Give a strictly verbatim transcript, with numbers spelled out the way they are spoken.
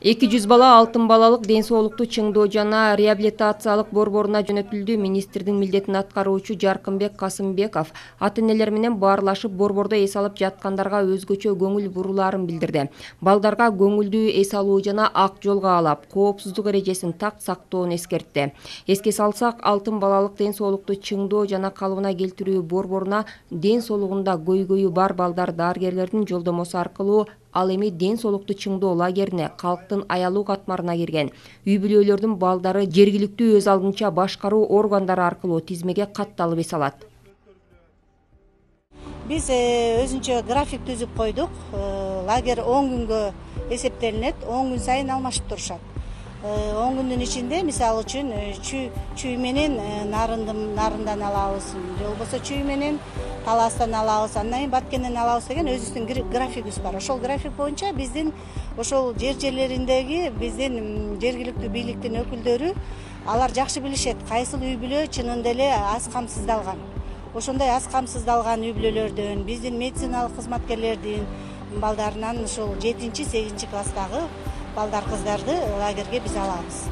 эки жүз бала алтын балалык ден соолукту чыңдоо жана реабилитациялык борборуна жөнөтүлдү. Министрдин милдетин аткаруучу Жаркынбек Касымбеков ата-энелер менен баарлашып борбордо эс алып жаткандарга өзгөчө көңүл бурулаарын билдирди. Балдарга көңүлдүү эс алуу жана ак жол каалап, коопсуздук эрежесин так сактоону эскертти. Эске салсак, алтын балалык ден соолукту чыңдоо жана калыбына келтирүү борборуна ден соолугунда көйгөйү бар балдар дарыгерлердин жолдомосу аркылуу, ал эми ден соолукту чыңдоо лагерине, калктын аялуу катмарына кирген үй бүлөлөрдүн балдары жергиликтүү өз алдынча башкаруу органдары аркылуу тизмеге катталып эс алат. Биз өзүнчө график түзүп койдук. Лагерь он күнгө эсептелинет, он күн сайын алмашып турушат. он күндүн ичинде, мисалы үчүн, чүй менен нарындан алабыз, же болбосо чүй менен таластан алабыз, андан кийин баткенден алабыз деген өзүбүздүн графигибиз бар. Ошол график боюнча биздин ошол жер жерлериндеги биздин жергиликтүү бийликтин өкүлдөрү алар жакшы билишет кайсыл үй бүлө чынында эле аз камсыздалган. Ошондой аз камсыздалган үй бүлөлөрдөн, биздин медициналык кызматкерлердин балдарынан ушул жетинчи сегизинчи класстагы балдар кыздарды лагерге биз алабыз.